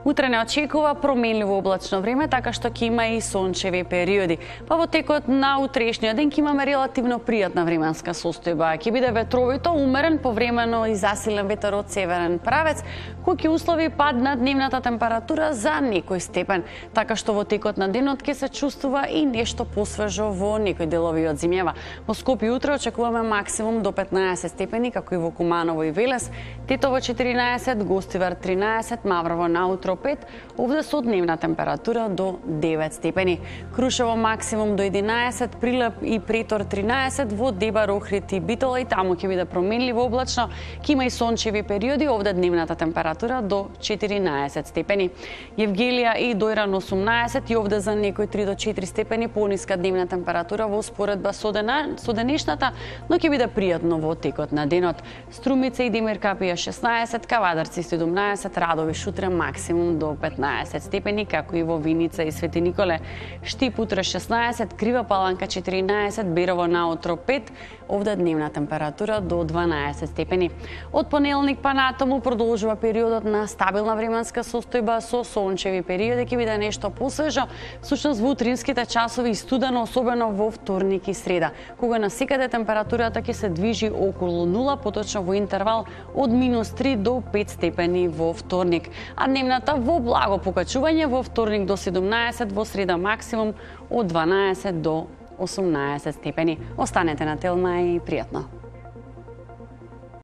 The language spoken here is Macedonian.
Утре не очекува променливо облачно време, така што ќе има и сончеви периоди. Па во текот на утрешниот ден ќе имаме релативно пријатна временска состојба. Ќе биде ветровито, умерен, повремено и засилен ветер од северен правец, кој ќе услови пад на дневната температура за некој степен. Така што во текот на денот ќе се чувствува и нешто посвежо во некои делови од зимјава. Во Скопје утре очекуваме максимум до 15 степени, како и во Куманово и Велес, Тетово 14, Гостивар 13, Маврово наутро 5, овде со дневна температура до 9 степени. Крушево максимум до 11, Прилеп и Претор 13, во Дебар, Охрид и Битола и таму ќе биде променливо облачно, ќе има и сончеви периоди, овде дневната температура до 14 степени. Евгелија и Дојран 18 и овде за некои 3 до 4 степени пониска дневна температура во споредба со денешната, но ќе биде пријатно во текот на денот. Струмица и Демир Капија 16, Кавадарци 17, Радови утре максимум до 15 степени, како и во Виница и Свети Николе. Штип утре 16, Крива Паланка 14, Берово наутро 5, овде дневна температура до 12 степени. Од понеделник па натаму продолжува периодот на стабилна временска состојба со сончеви периоди, ќе биде нешто посвежо, всушност во утринските часови и студено, особено во вторник и среда, кога насекаде температурата ќе се движи околу 0, поточно во интервал од -3 до 5 степени во вторник, а дневната во благо покачување во вторник до 17, во среда максимум од 12 до 18 степени. Останете на Телма и пријатно.